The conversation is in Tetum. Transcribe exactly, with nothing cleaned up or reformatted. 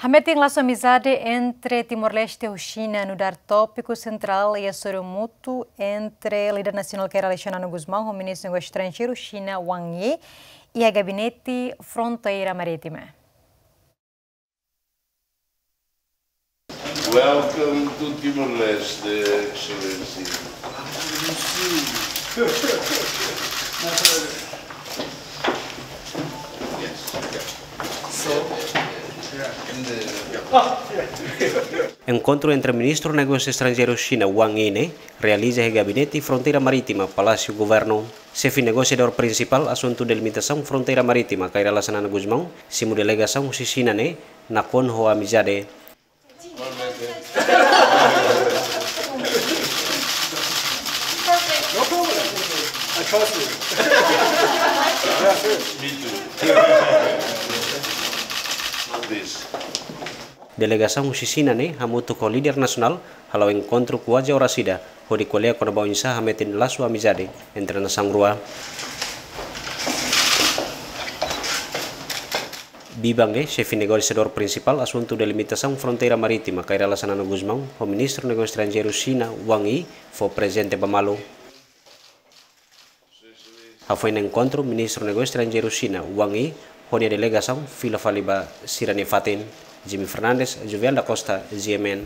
Hametin lasu amizade entre Timor-Leste ho Xina nu'udar tópiku sentrál iha soru mútuu entre líder nasionál Kay Rala Xanana Gusmão ho Ministru Negósiu Estranjeiru Xina Wang Yi iha Gabinete Fronteira Marítima. Welcome to Timor-Leste, Excellency. Yes. So, yeah, in the, yeah. Enkontru entre Ministru Negósiu Estranjeiru Xina Wang Yi ne'e realiza iha Gabinete Fronteira Marítima, Palásiu Governu. Xefe negosiadór prinsipál asuntu delimitasaun fronteira marítima, Kay Rala Xanana Gusmão, simu delegasaun husi Xina ne'e nakonu ho amizade. No problem. I trust you. Yeah, sure. Me too. Please. Delegasaun husi Xina ne'e hamutuk ho líder nasionál hala'o enkontru kuaze oras ida, hodi ko'alia kona-ba oinsá hametin lasu amizade entre nasaun rua. Biban ne'e, xefe negosiadór prinsipál asuntu delimitasaun fronteira marítima, Kay Rala Xanana Gusmão, ho Ministru Negósiu Estranjeiru Xina Wang Yi fó prezente ba malu. Hafoin enkontru, Ministru Negósiu Estranjeiru Xina Wang Yi ho nia delegasaun fila fali ba sira-nia fatin. Jimmy Fernandes, Juvel da Costa, G M N.